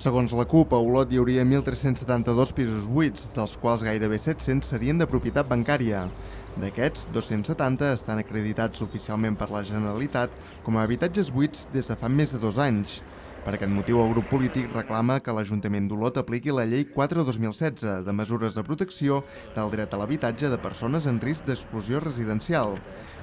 Segons la CUP, a Olot hi hauria 1.372 pisos buits, dels quals gairebé 700 serien de propietat bancària. D'aquests, 270 estan acreditats oficialment per la Generalitat com a habitatges buits des de fa més de 2 anys. Per aquest motiu, el grup polític reclama que l'Ajuntament d'Olot apliqui la Llei 4/2016 de mesures de protecció del dret a l'habitatge de persones en risc d'exclusió residencial.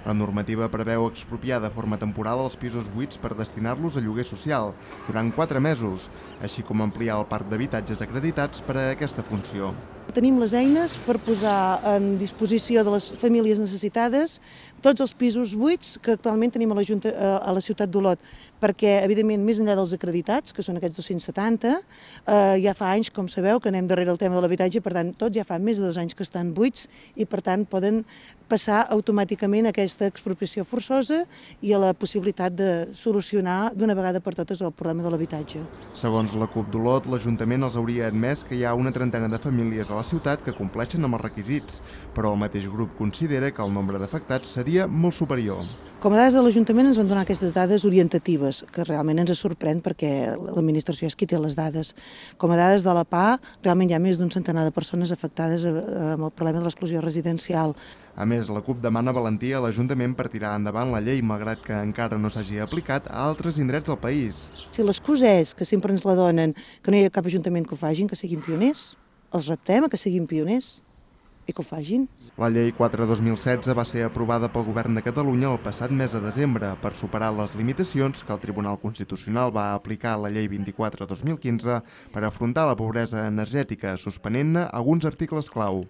La normativa preveu expropiar de forma temporal els pisos buits per destinar-los a lloguer social durant 4 mesos, així com ampliar el parc d'habitatges acreditats per a aquesta funció. Tenim les eines per posar en disposició de les famílies necessitades tots els pisos buits que actualment tenim a la ciutat d'Olot, perquè, evidentment, més enllà dels acreditats, que són aquests 270, ja fa anys, com sabeu, que anem darrere el tema de l'habitatge, per tant, tots ja fa més de 2 anys que estan buits i, per tant, poden passar automàticament a aquesta expropiació forçosa i a la possibilitat de solucionar d'una vegada per totes el problema de l'habitatge. Segons la CUP d'Olot, l'Ajuntament els hauria admès que hi ha una trentena de famílies a la ciutat que compleixen amb els requisits, però el mateix grup considera que el nombre d'afectats seria molt superior. Com a dades de l'Ajuntament ens van donar aquestes dades orientatives, que realment ens sorprèn perquè l'administració és qui té les dades. Com a dades de la PA, realment hi ha més d'un centenar de persones afectades amb el problema de l'exclusió residencial. A més, la CUP demana valentia a l'Ajuntament per tirar endavant la llei, malgrat que encara no s'hagi aplicat a altres indrets del país. Si l'excusa és que sempre ens la donen, que no hi ha cap ajuntament que ho facin, que siguin pioners, els reptem a que siguin pioners i que ho facin. La llei 4/2016 va ser aprovada pel Govern de Catalunya el passat mes de desembre per superar les limitacions que el Tribunal Constitucional va aplicar a la llei 24/2015 per afrontar la pobresa energètica, suspenent-ne alguns articles clau.